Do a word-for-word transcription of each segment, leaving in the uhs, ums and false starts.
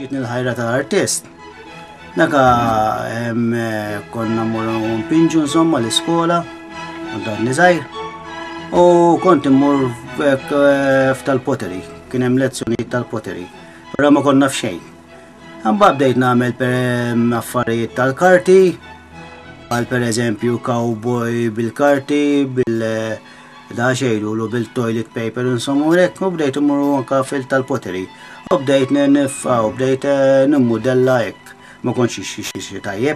Ġietni l-ħajra tal-artist. Naka konna mmorru npinġu insomma l-iskola, kont għadni żgħir, u kont immur f'tal-pottery, kien hemm lezzjonijiet tal-pottery, però ma konna f'xejn. Imbagħad bdejt nagħmel affarijiet tal-karti, għal pereżempju cowboy bil-karti, bil da xejdu bil-toilet paper insomma u hekk, u bdejt immur anka fil tal-pottery. U bdejt nifqa, u bdejt nimmudella hekk, ma kontx xi tajjeb.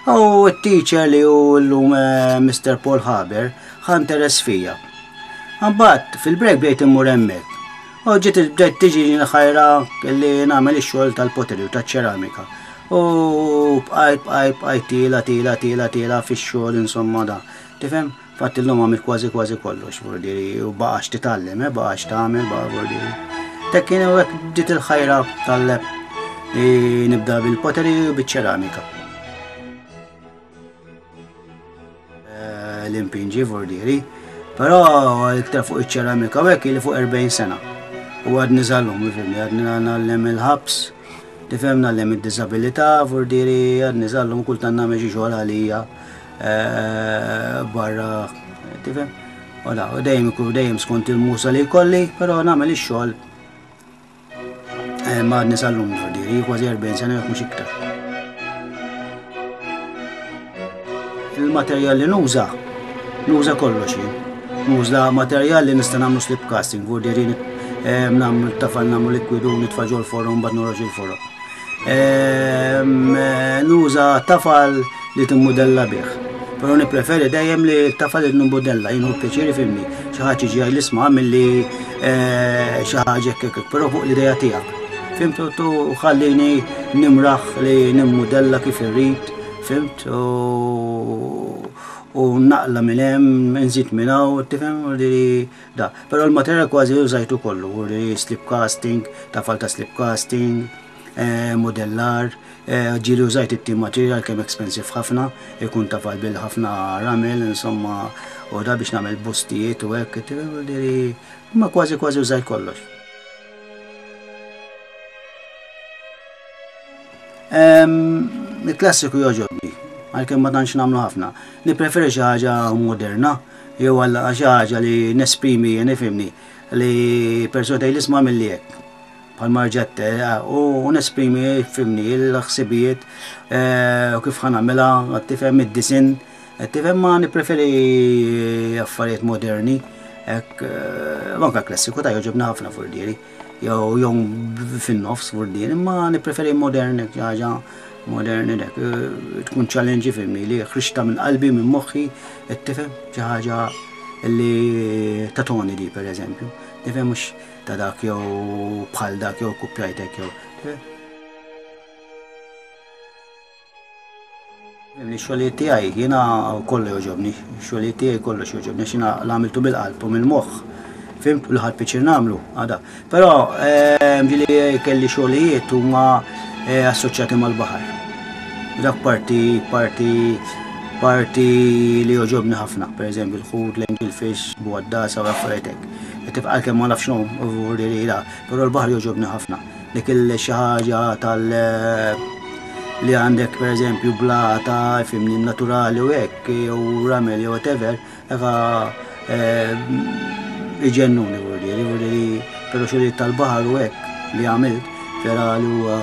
U t-teacher li hu llum Mister Paul Haber ħa interess fija. Imbagħad fil-break bdejt immur hemmhekk. U ġiet bdejt tiġi ħajra li nagħmel ix-xogħol tal-pottery u taċ-ċeramika. U bqajt bqajt bqajt tila tila tila tila fix-xogħol insomma da. Tifhem? Fatt illum għamilt kważi kważi kollox, vordiri, u baqax titgħallem, eh, baqax tagħmel, baqa' vordiri. Tek kien hekk bdiet il-ħajra tal li nibda bil-pottery u biċ-ċeramika. L-impinġi vordiri, però iktar fuq iċ-ċeramika u hekk li fuq erbgħin sena. U għadni żallum, ifhimni, għadni ngħallem il-ħabs, tifhem, ngħallem id-diżabilità, vordiri, għadni żallum kultant nagħmel xi xogħol għalija barra, tifhem? U da, u dejjem ikun dejjem skont il-musa li jkolli, però nagħmel ix-xogħol ma għadni sal-lum vordiri, kważi erbgħin sena jekk mhux iktar. Il-materjal li nuża, nuża kollox jien. Nuża materjal li nista' nagħmlu slip casting, vordiri nagħmlu tafal, nagħmlu likwidu, nitfa' ġol-forn, mbagħad noħroġ il-forn. Nuża tafal li timmudella bih. Però nippreferi dejjem li tafal li nimmudella, jien hu pjaċiri fimni. Xi ħadd jiġi jgħid isma' milli xi ħaġa hekk hekk, però fuq l-idea tiegħek. Fimt, u ħallini nimraħ li nimmudella kif irrid, fimt, u naqla minn hemm, nżid minn hawn, tifhem, u li da. Però l-materjal kważi użajtu kollu, u li slip casting, tafal ta' slip casting, modellar, ġieli użajt it-team material kemm expensive ħafna, ikun tafal bil-ħafna ramel, insomma, u da biex nagħmel bustijiet u hekk, ma kważi kważi użajt kollox. Il-klassiku jogħġobni, għalkemm ma tantx nagħmlu ħafna. Nippreferi xi ħaġa moderna, jew għal xi ħaġa li nesprimi jien, ifhimni, li persuna tgħid isma' milli hekk. Bħal marġette, u nesprimi, ifhimni, l-ħsibijiet, u kif ħa nagħmilha, tifhem id-disin, tifhem, ma nippreferi affarijiet moderni, hekk, anke klassiku ta' jogħġobni ħafna furdieri, jew jew fin-nofs furdieri, imma nippreferi modern, hekk, xi ħaġa moderni dak, tkun challenge, ifhimni, li ħriġta minn qalbi, minn moħħi, tifhem, xi ħaġa li tatoni di, per eżempju, tifhem, mhux ta' dak jew bħal dak jew kuppjajtek jew. Ix-xogħlijiet tiegħi jiena kollu jogħġobni, ix-xogħlijiet tiegħi kollox jogħġobni għax jiena l-għamiltu bil-qalb u mill-moħħ. Fimt, u l-ħadd piċir nagħmlu, għada. Però ġieli kelli xogħlijiet huma assoċjati mal-baħar. Dak parti, parti, parti li jogħġobni ħafna, per eżempju l-ħut, l-angelfish, bugħaddasa u affarijiet hekk. Tibqa' kemm ma nafx x'inhu, u li la, però l-baħar jogħġobni ħafna. Dik il xi ħaġa tal li għandek per eżempju blata, fimni, naturali u hekk, jew ramel jew whatever, eka iġennuni vordiri, vordiri, però xogħlijiet tal-baħar u hekk li għamilt vera li huwa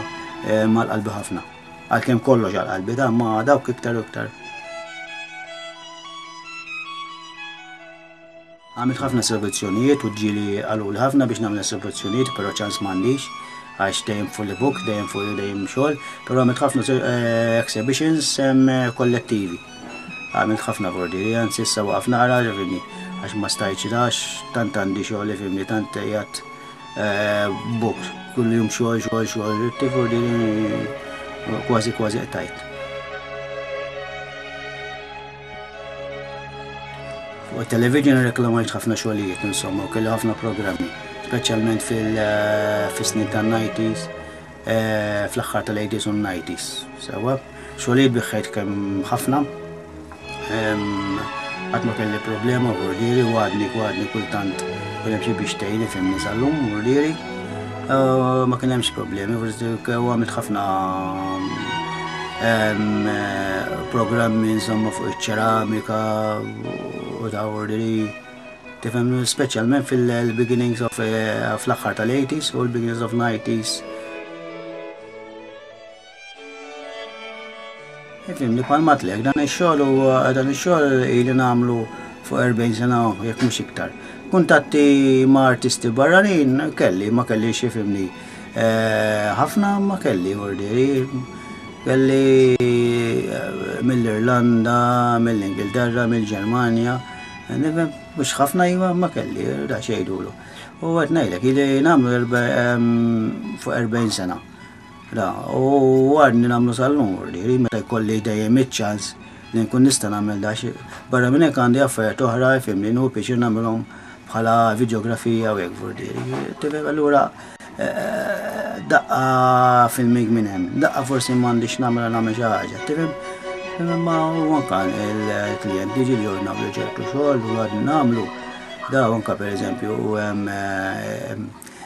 mal-qalbi ħafna. Għalkemm kollox għal-qalbi da, ma dawk iktar u iktar. Għamilt ħafna esibizzjonijiet u ġieli qaluli ħafna biex nagħmel esibizzjonijiet, però ċans m'għandix, għax dejjem fully booked, dejjem full, dejjem xogħol, però għamilt ħafna exhibitions kollettivi. Għamilt ħafna vordiri, anzi issa waqaf naqra, ġifirni, għax ma stajtx għax tant għandi xogħol, ifhimni, tant qiegħed Booked, kull jum xogħol, xogħol, xogħol, tifur di kważi kważi qtajt. Fuq television reklamajt ħafna xogħlijiet insomma u kelli ħafna programmi, speċjalment fil-snin tan-nineties, fl-aħħar tal-eighties u nineties. Sewa, xogħlijiet biħħejt kemm ħafna. Qatt ma kelli problema vordieri u għadni għadni kultant kien hemm xi biex tgħinni fimni sal-lum vordieri. Ma kien hemmx problemi, u għamilt ħafna programmi insomma fuq iċ-ċeramika u ta' vordieri. Tifhem, speċjalment fil-beginnings of fl-aħħar tal-eighties u l-beginnings of nineties. Ifhimni, bħal matlek, dan ix-xogħol u dan ix-xogħol ili nagħmlu fuq erbgħin sena jekk mhux iktar. Kuntatti ma' artisti barranin kelli, ma kellix ifhimni ħafna ma kelli vordieri. Kelli mill-Irlanda, mill-Ingilterra, mill-Ġermanja. Nifhem, mhux ħafna iva ma kelli, da xejdulu. U qed ngħidlek, ili nagħmlu fuq erbgħin sena. Da, u għadni nagħmlu sal-lum, vordieri, meta jkolli dejjem iċ-ċans li nkun nista' nagħmel da xi. Barra minn hekk għandi affarijiet oħra, ifhimni, nieħu pjaċir nagħmilhom bħala videografija u hekk vordieri. Tifhem, allura daqqa filming minn hemm, daqqa forsi m'għandix nagħmel nagħmel xi ħaġa, tifhem? Imma u anke il-klijenti ġieli jordnaw li ċertu xogħol u għadni nagħmlu. Da anke pereżempju hemm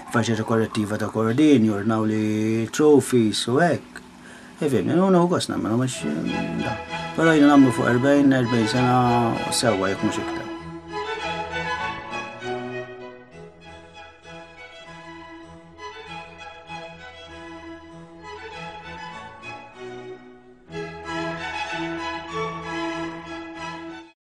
faċċata korrettiva ta' Kordin, jordnaw li trophies u hekk. Ifhimni, nu gost nagħmlu mhux da. Però jiena nagħmlu fuq erbgħin, erbgħin sena sewwa jekk mhux iktar.